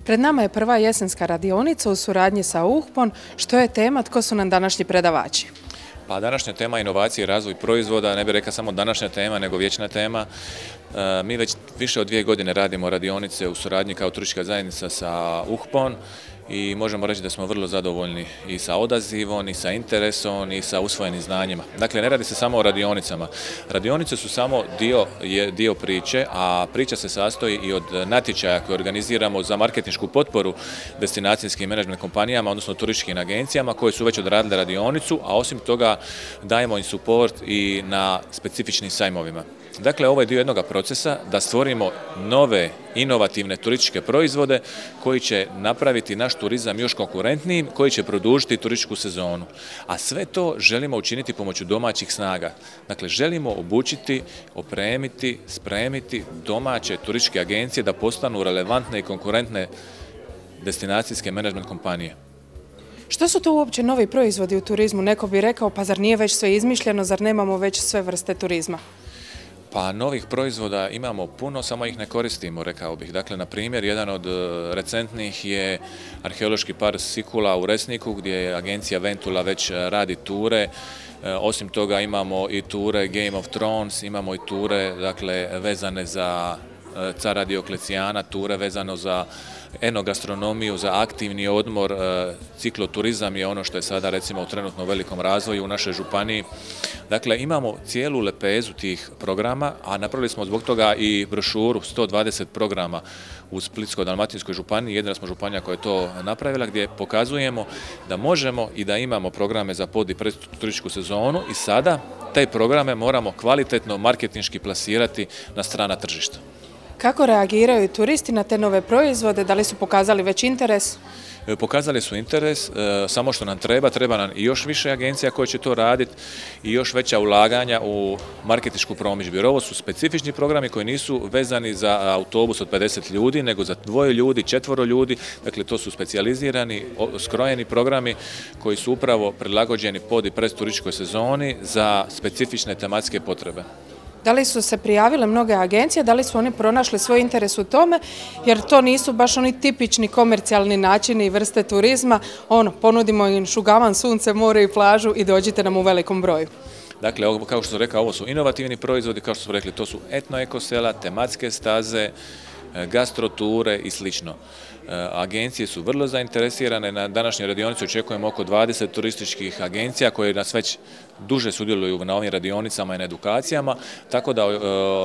Pred nama je prva jesenska radionica u suradnji sa UHPON. Što je tema, tko su nam današnji predavači? Pa današnja tema inovacije i razvoj proizvoda, ne bih rekao samo današnja tema, nego vječna tema. Mi već više od 2 godine radimo radionice u suradnji kao turistička zajednica sa UHPON i možemo reći da smo vrlo zadovoljni i sa odazivom, i sa interesom, i sa usvojenim znanjima. Dakle, ne radi se samo o radionicama. Radionice su samo dio priče, a priča se sastoji i od natječaja koje organiziramo za marketinšku potporu destinacijskim menadžment kompanijama, odnosno turističkim agencijama koje su već odradile radionicu, a osim toga dajemo im suport i na specifičnim sajmovima. Dakle, ovo je dio jednog procesa da stvorimo nove, inovativne turističke proizvode koji će napraviti naš turizam još konkurentnijim, koji će produžiti turističku sezonu. A sve to želimo učiniti pomoću domaćih snaga. Dakle, želimo obučiti, opremiti, spremiti domaće turističke agencije da postanu relevantne i konkurentne destinacijske menadžment kompanije. Što su to uopće novi proizvodi u turizmu? Neko bi rekao, pa zar nije već sve izmišljeno, zar nemamo već sve vrste turizma? Pa novih proizvoda imamo puno, samo ih ne koristimo, rekao bih. Dakle, na primjer, jedan od recentnih je arheološki park Sikula u Resniku, gdje je agencija Ventula već radi ture. Osim toga imamo i ture Game of Thrones, imamo i ture, dakle, vezane za cara Dioklecijana, ture vezano za enogastronomiju, za aktivni odmor. Cikloturizam je ono što je sada recimo u trenutno velikom razvoju u našoj županiji. Dakle, imamo cijelu lepezu tih programa, a napravili smo zbog toga i brošuru 120 programa u Splitsko-dalmatinskoj županiji. Jedina smo županija koja je to napravila, gdje pokazujemo da možemo i da imamo programe za pod- i predturističku sezonu i sada te programe moramo kvalitetno marketinški plasirati na strana tržišta. Kako reagiraju turisti na te nove proizvode? Da li su pokazali već interes? Pokazali su interes, samo što nam treba nam i još više agencija koje će to raditi i još veća ulaganja u marketinšku promidžbu. Jer ovo su specifični programi koji nisu vezani za autobus od 50 ljudi, nego za 2 ljudi, 4 ljudi. Dakle, to su specijalizirani, skrojeni programi koji su upravo prilagođeni pod- i predturističkoj sezoni za specifične tematske potrebe. Da li su se prijavile mnoge agencije, da li su oni pronašli svoj interes u tome, jer to nisu baš oni tipični komercijalni načini i vrste turizma, ponudimo im šugavan, sunce, more i plažu i dođite nam u velikom broju. Dakle, kao što sam rekao, ovo su inovativni proizvodi, kao što smo rekli, to su etno-ekosela, tematske staze, gastroture i slično. Agencije su vrlo zainteresirane. Na današnjoj radionici očekujemo oko 20 turističkih agencija koje nas već duže sudjeluju na ovim radionicama i na edukacijama, tako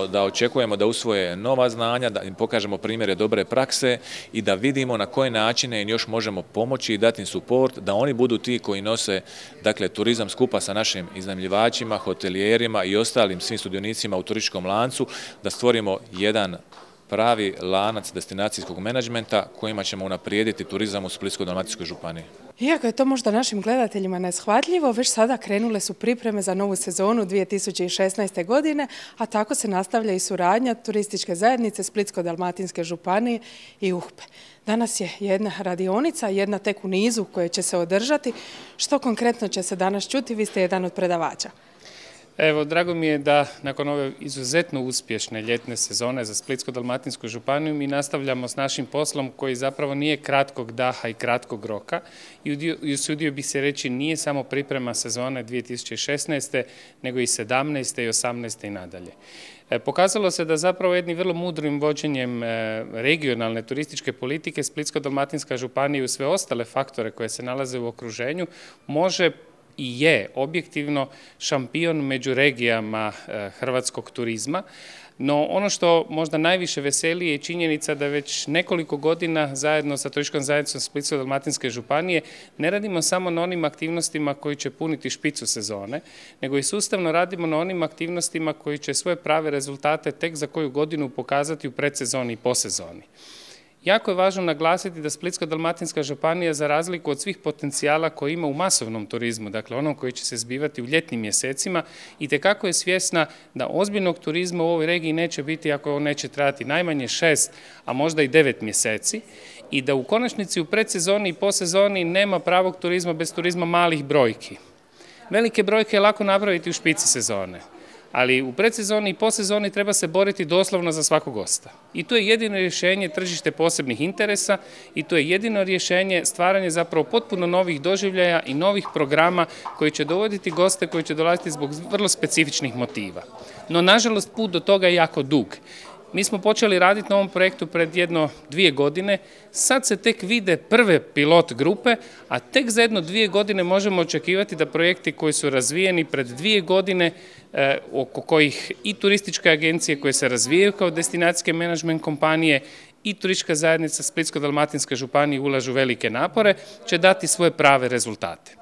da očekujemo da usvoje nova znanja, da im pokažemo primjere dobre prakse i da vidimo na koje načine im još možemo pomoći i dati im suport, da oni budu ti koji nose, dakle, turizam skupa sa našim iznajmljivačima, hotelijerima i ostalim svim sudionicima u turističkom lancu, da stvorimo jedan pravi lanac destinacijskog menadžmenta kojima ćemo unaprijediti turizam u Splitsko-dalmatinskoj županiji. Iako je to možda našim gledateljima neshvatljivo, već sada krenule su pripreme za novu sezonu 2016. godine, a tako se nastavlja i suradnja turističke zajednice Splitsko-dalmatinske županije i UHPE. Danas je jedna radionica, jedna tek u nizu koje će se održati. Što konkretno će se danas čuti? Vi ste jedan od predavača. Evo, drago mi je da nakon ove izuzetno uspješne ljetne sezone za Splitsko-dalmatinsku županiju mi nastavljamo s našim poslom koji zapravo nije kratkog daha i kratkog roka i usudio bih se reći nije samo priprema sezone 2016. nego i 17. i 18. i nadalje. Pokazalo se da zapravo jednim vrlo mudrim vođenjem regionalne turističke politike Splitsko-dalmatinska županija i sve ostale faktore koje se nalaze u okruženju može i je objektivno šampion među regijama hrvatskog turizma. No ono što možda najviše veseli je činjenica da već nekoliko godina zajedno sa turističkom zajednicom Splitsko-dalmatinske županije ne radimo samo na onim aktivnostima koji će puniti špicu sezone, nego i sustavno radimo na onim aktivnostima koji će svoje prave rezultate tek za koju godinu pokazati u predsezoni i posezoni. Jako je važno naglasiti da Splitsko-dalmatinska županija, za razliku od svih potencijala koje ima u masovnom turizmu, dakle onom koji će se zbivati u ljetnim mjesecima, itekako je svjesna da ozbiljnog turizma u ovoj regiji neće biti ako on neće trajati najmanje 6, a možda i 9 mjeseci i da u konačnici u predsezoni i posezoni nema pravog turizma bez turizma malih brojki. Velike brojke je lako napraviti u špici sezone, ali u predsezoni i posezoni treba se boriti doslovno za svakog gosta. I to je jedino rješenje tržište posebnih interesa i to je jedino rješenje stvaranje zapravo potpuno novih doživljaja i novih programa koji će dovoditi goste koji će dolaziti zbog vrlo specifičnih motiva. No, nažalost, put do toga je jako dug. Mi smo počeli raditi na ovom projektu pred 1-2 godine, sad se tek vide prve pilot grupe, a tek za 1-2 godine možemo očekivati da projekti koji su razvijeni pred 2 godine, oko kojih i turističke agencije koje se razvijaju kao destinacijske menadžment kompanije i turistička zajednica Splitsko-dalmatinske županije ulažu velike napore, će dati svoje prave rezultate.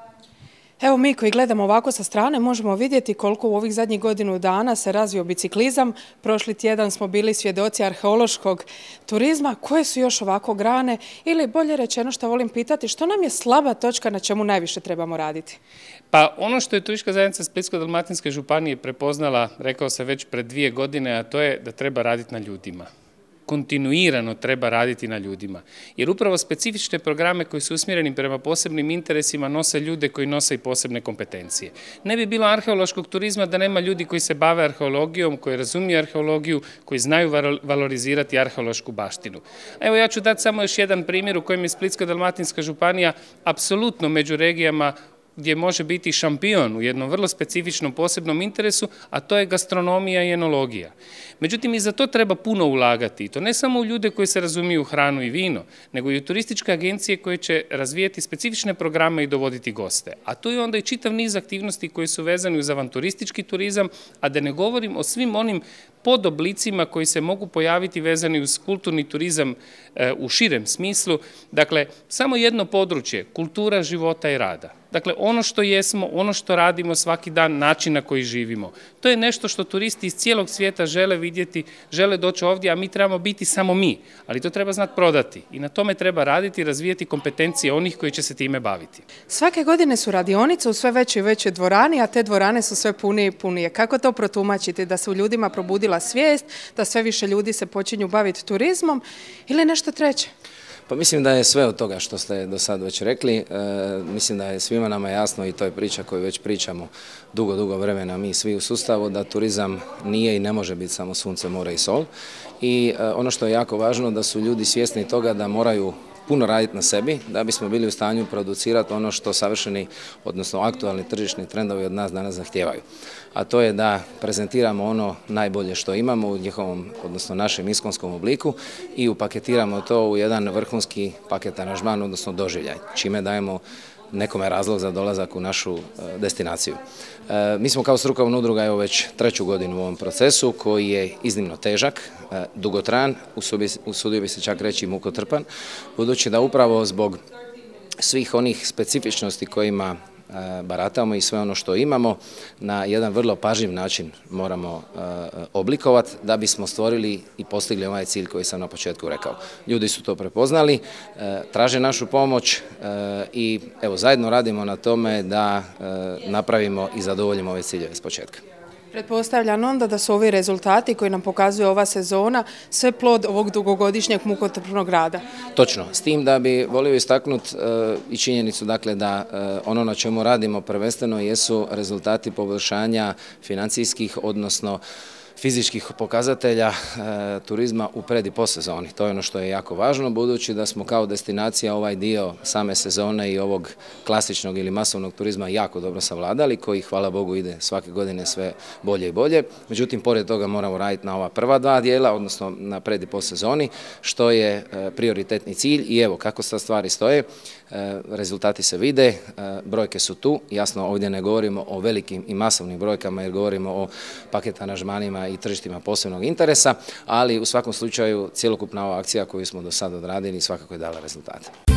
Evo mi koji gledamo ovako sa strane možemo vidjeti koliko u ovih zadnjih godinu dana se razvio biciklizam. Prošli tjedan smo bili svjedoci arheološkog turizma. Koje su još ovako grane ili bolje rečeno što volim pitati, što nam je slaba točka na čemu najviše trebamo raditi? Pa ono što je turistička zajednica Splitsko-dalmatinske županije prepoznala, rekao se već pred 2 godine, a to je da treba raditi na ljudima. Kontinuirano treba raditi na ljudima. Jer upravo specifične programe koji su usmjereni prema posebnim interesima nose ljude koji nose i posebne kompetencije. Ne bi bilo arheološkog turizma da nema ljudi koji se bave arheologijom, koji razumiju arheologiju, koji znaju valorizirati arheološku baštinu. Evo ja ću dati samo još jedan primjer u kojem je Splitsko-dalmatinska županija apsolutno među regijama gdje može biti šampion u jednom vrlo specifičnom posebnom interesu, a to je gastronomija i enologija. Međutim, i za to treba puno ulagati. I to ne samo u ljude koji se razumiju u hranu i vino, nego i u turističke agencije koje će razvijeti specifične programe i dovoditi goste. A tu je onda i čitav niz aktivnosti koji su vezani uz avanturistički turizam, a da ne govorim o svim onim podoblicima koji se mogu pojaviti vezani uz kulturni turizam u širem smislu. Dakle, samo jedno područje, kultura života i rada. Dakle, ono što jesmo, ono što radimo svaki dan, način na koji živimo. To je nešto što turisti iz cijelog svijeta žele vidjeti, žele doći ovdje, a mi trebamo biti samo mi. Ali to treba znati prodati i na tome treba raditi i razvijati kompetencije onih koji će se time baviti. Svake godine su radionice u sve većoj i većoj dvorani, a te dvorane su sve punije i punije. Kako to protumačiti? Da se u ljudima probudila svijest, da sve više ljudi se počinju baviti turizmom ili nešto treće? Pa mislim da je sve od toga što ste do sad već rekli, mislim da je svima nama jasno i to je priča koju već pričamo dugo vremena mi svi u sustavu, da turizam nije i ne može biti samo sunce, more i sol. I ono što je jako važno da su ljudi svjesni toga da moraju puno raditi na sebi da bismo bili u stanju producirati ono što savršeni, odnosno aktualni tržišni trendovi od nas danas zahtijevaju. A to je da prezentiramo ono najbolje što imamo u njihovom, odnosno našem iskonskom obliku i upaketiramo to u jedan vrhunski paket aranžman, odnosno doživljaj, čime dajemo nekome razlog za dolazak u našu destinaciju. Mi smo kao strukovna udruga evo već 3. godinu u ovom procesu koji je iznimno težak, dugotrajan, usudio bi se čak reći mukotrpan, budući da upravo zbog svih onih specifičnosti kojima baratamo i sve ono što imamo na jedan vrlo pažljiv način moramo oblikovati da bismo stvorili i postigli ovaj cilj koji sam na početku rekao. Ljudi su to prepoznali, traže našu pomoć i evo zajedno radimo na tome da napravimo i zadovoljimo ove ciljeve s početka. Pretpostavljam onda da su ovi rezultati koji nam pokazuje ova sezona sve plod ovog dugogodišnjeg mukotrpnog rada. Točno, s tim da bi volio istaknuti i činjenicu dakle da ono na čemu radimo prvenstveno jesu rezultati poboljšanja financijskih, odnosno fizičkih pokazatelja turizma u pred i posezoni. To je ono što je jako važno, budući da smo kao destinacija ovaj dio same sezone i ovog klasičnog ili masovnog turizma jako dobro savladali, koji hvala Bogu ide svake godine sve bolje i bolje. Međutim, pored toga moramo raditi na ova prva 2 dijela, odnosno na pred i posezoni, što je prioritetni cilj i evo kako sad stvari stoje. Rezultati se vide, brojke su tu, jasno ovdje ne govorimo o velikim i masovnim brojkama jer govorimo o paket aranžmanima i tržištima posebnog interesa, ali u svakom slučaju cjelokupna ova akcija koju smo do sada odradili svakako je dala rezultate.